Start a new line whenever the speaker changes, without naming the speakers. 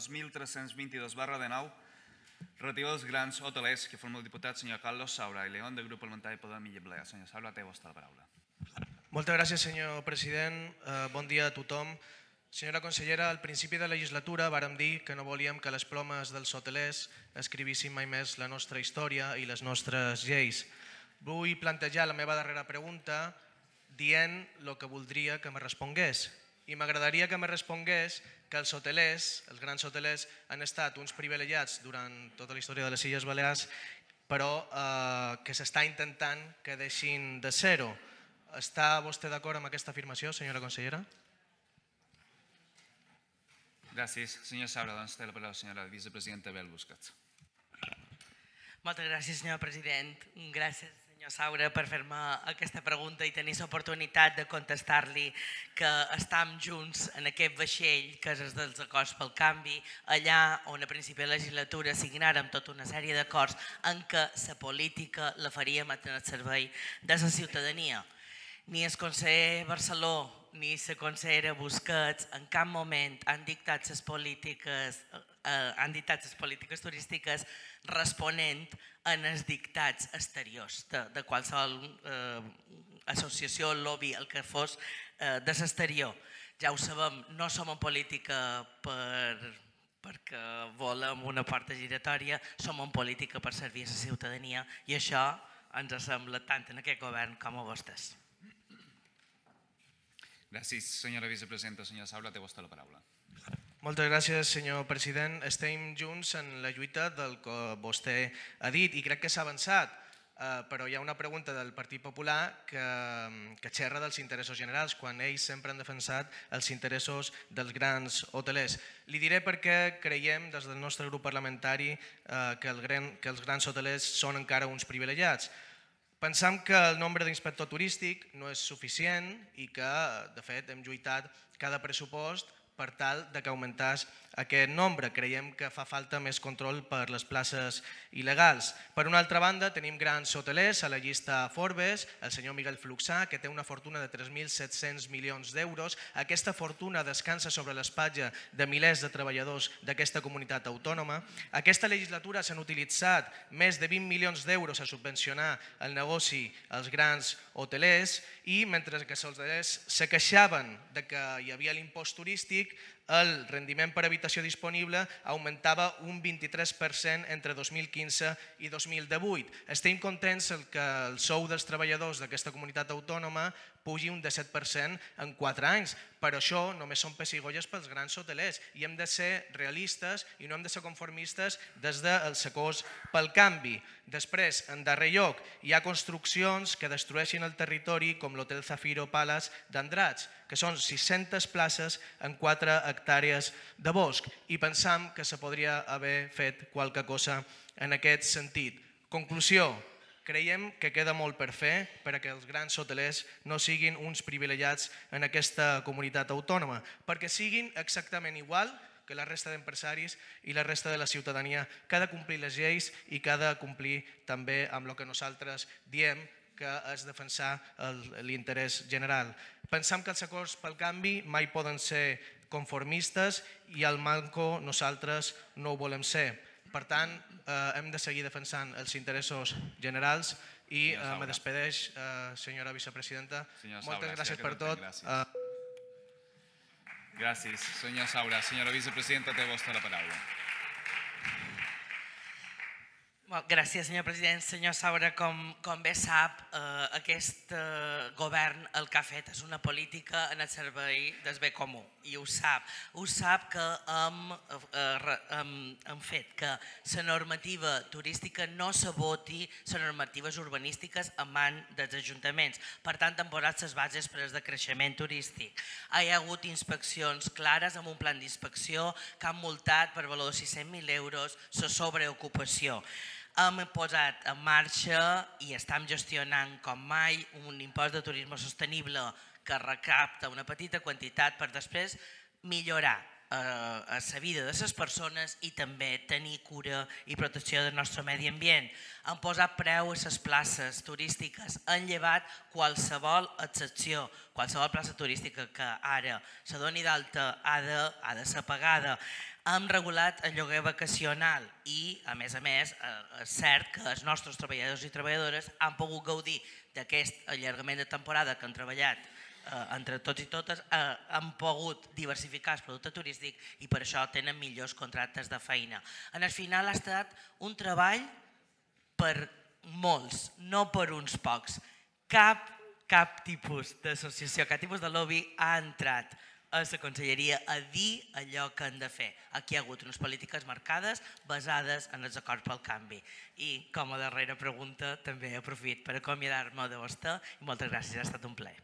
2322/19 relativa als grans hotelers que forma el diputat senyor Carlos Saura i León del grup parlamentari Podem i Lliblea. Senyor Saura, té vostra la paraula.
Moltes gràcies, senyor president. Bon dia a tothom. Senyora consellera, al principi de la legislatura vàrem dir que no volíem que les plomes dels hotelers escrivissin mai més la nostra història i les nostres lleis. Vull plantejar la meva darrera pregunta dient el que voldria que me respongués. I m'agradaria que me respongués que els hotelers, els grans hotelers, han estat uns privilegiats durant tota la història de les Illes Balears, però que s'està intentant que deixin de ser-ho. Està vostè d'acord amb aquesta afirmació, senyora consellera?
Gràcies. Senyor Saura, doncs té la paraula la senyora vicepresidenta Bel Busquets.
Moltes gràcies, senyor president. Gràcies, senyor Saura, per fer-me aquesta pregunta i tenir l'oportunitat de contestar-li que estem junts en aquest vaixell que és dels acords pel canvi, allà on a principi de la legislatura signàrem tota una sèrie d'acords en què la política la faríem en el servei de la ciutadania. Ni el conseller Barceló ni la consellera Busquets en cap moment han dictat les polítiques turístiques responent en els dictats exteriors de qualsevol associació, lobby, el que fos de l'exterior. Ja ho sabem, no som en política perquè volem una porta giratòria, som en política per servir a la ciutadania i això ens sembla tant en aquest govern com a vostès.
Gràcies, senyora vicepresidenta. Senyor Saura, té vostè la paraula.
Moltes gràcies, senyor president. Estem junts en la lluita del que vostè ha dit i crec que s'ha avançat, però hi ha una pregunta del Partit Popular que xerra dels interessos generals, quan ells sempre han defensat els interessos dels grans hotelers. Li diré per què creiem des del nostre grup parlamentari que els grans hotelers són encara uns privilegiats. Pensam que el nombre d'inspector turístic no és suficient i que, de fet, hem lluitat cada pressupost per tal que augmentàs aquest nombre. Creiem que fa falta més control per les places il·legals. Per una altra banda, tenim grans hotelers a la llista Forbes, el senyor Miguel Fluxà, que té una fortuna de 3.700 milions d'euros. Aquesta fortuna descansa sobre l'espatlla de milers de treballadors d'aquesta comunitat autònoma. Aquesta legislatura s'han utilitzat més de 20 milions d'euros a subvencionar el negoci als grans hotelers i mentre que els hotelers se queixaven de que hi havia l'impost turístic, el rendiment per habitació disponible augmentava un 23% entre 2015 i 2018. Estem contents que el sou dels treballadors d'aquesta comunitat autònoma pugi un 17% en 4 anys, però això només són pessigolles pels grans hotelers i hem de ser realistes i no hem de ser conformistes des dels acords pel canvi. Després, en darrer lloc, hi ha construccions que destrueixen el territori com l'Hotel Zafiro Palace d'Andratx, que són 600 places en 4 hectàrees de bosc i pensam que se podria haver fet qualque cosa en aquest sentit. Conclusió. Creiem que queda molt per fer perquè els grans hotelers no siguin uns privilegiats en aquesta comunitat autònoma, perquè siguin exactament igual que la resta d'empresaris i la resta de la ciutadania que ha de complir les lleis i que ha de complir també amb el que nosaltres diem que és defensar l'interès general. Pensam que els acords pel canvi mai poden ser conformistes i al manco nosaltres no ho volem ser. Per tant, hem de seguir defensant els interessos generals i me despedeix, senyora vicepresidenta. Moltes gràcies per tot.
Gràcies, senyor Saura. Senyora vicepresidenta, té vostè la paraula.
Gràcies, senyor president. Senyor Saura, com bé sap, aquest govern el que ha fet és una política en el servei del bé comú i ho sap. Ho sap que hem fet que la normativa turística no s'aboti les normatives urbanístiques en mans dels ajuntaments. Per tant, han posat les bases per al decreixement turístic. Hi ha hagut inspeccions clares amb un plan d'inspecció que han multat per valor de 600.000 euros la sobreocupació. Hem posat en marxa i estem gestionant com mai un impost de turisme sostenible que recapta una petita quantitat per després millorar a la vida de les persones i també tenir cura i protecció del nostre medi ambient. Han posat preu a les places turístiques, han llevat qualsevol excepció, qualsevol plaça turística que ara se doni d'alta ha de ser pagada. Hem regulat el lloguer vacacional i, a més, és cert que els nostres treballadors i treballadores han pogut gaudir d'aquest allargament de temporada que han treballat entre tots i totes, han pogut diversificar el producte turístic i per això tenen millors contractes de feina. En el final ha estat un treball per molts, no per uns pocs. Cap tipus d'associació, cap tipus de lobby ha entrat a la conselleria a dir allò que han de fer. Aquí hi ha hagut unes polítiques marcades basades en els acords pel canvi. I com a darrera pregunta també aprofito per acomiadar-me de vostè i moltes gràcies, ha estat un plaer.